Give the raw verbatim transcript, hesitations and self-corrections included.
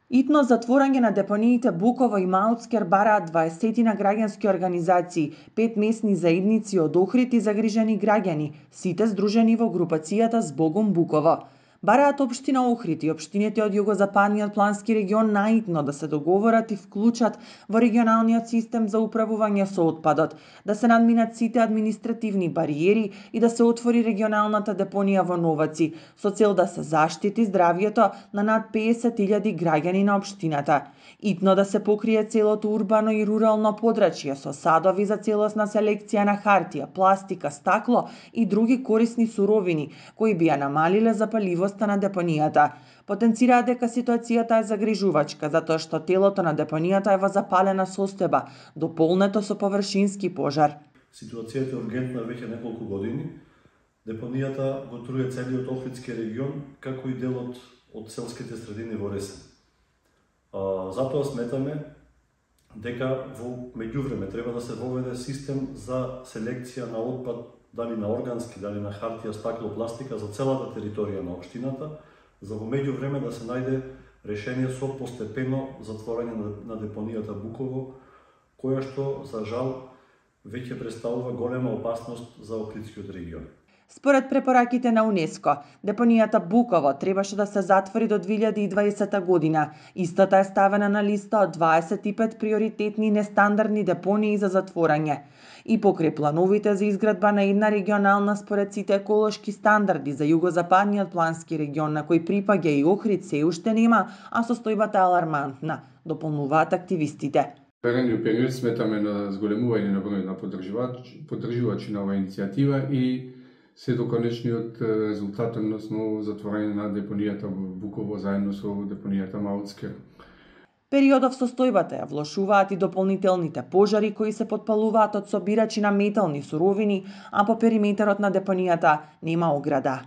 Итно затворање на депониите Буково и Маутскер бараат дваесет граѓански организации, пет месни заедници од Охрид и загрижени граѓани, сите здружени во групацијата Збогум Буково. Бараат општина Охрид и општините од југозападниот плански регион наитно да се договорат и вклучат во регионалниот систем за управување со отпадот, да се надминат сите административни бариери и да се отвори регионалната депонија во Новаци, со цел да се заштити здравјето на над песет илјади граѓани на општината. Итно да се покрие целото урбано и рурално подрачје со садови за целосна селекција на хартија, пластика, стакло и други корисни суровини, кои би ја намалиле запаливоста на депонијата. Потенцираат дека ситуацијата е загрижувачка, затоа што телото на депонијата е во запалена состојба, дополнето со површински пожар. Ситуацијата е ургентна веќе неколку години. Депонијата го труе целиот Охридски регион, како и делот од селските средини во Ресен. А, затоа сметаме дека во меѓувреме треба да се воведе систем за селекција на отпад, дали на органски, дали на хартија, стакло, пластика за целата територија на општината, за во меѓувреме да се најде решение со постепено затворање на, на депонијата Буково, која што за жал веќе представува голема опасност за Охридскиот регион. Според препораките на УНЕСКО, депонијата Буково требаше да се затвори до две илјади и дваесета година. Истата е ставена на листа од дваесет и пет приоритетни нестандардни депонии за затворање. И покрај плановите за изградба на една регионална според сите еколошки стандарди за југозападниот плански регион, на кој припаѓа и Охрид, се уште нема, а состојбата е алармантна, дополнуваат активистите. Наредниот период сметаме на зголемување на бројот на поддржувачи на оваа иницијатива и се до конечниот резултат, односно затворање на депонијата Буково заедно со депонијата Маутскер. Периодов состојбата ја влошуваат и дополнителните пожари кои се потпалуваат од собирачи на метални суровини, а по периметерот на депонијата нема ограда.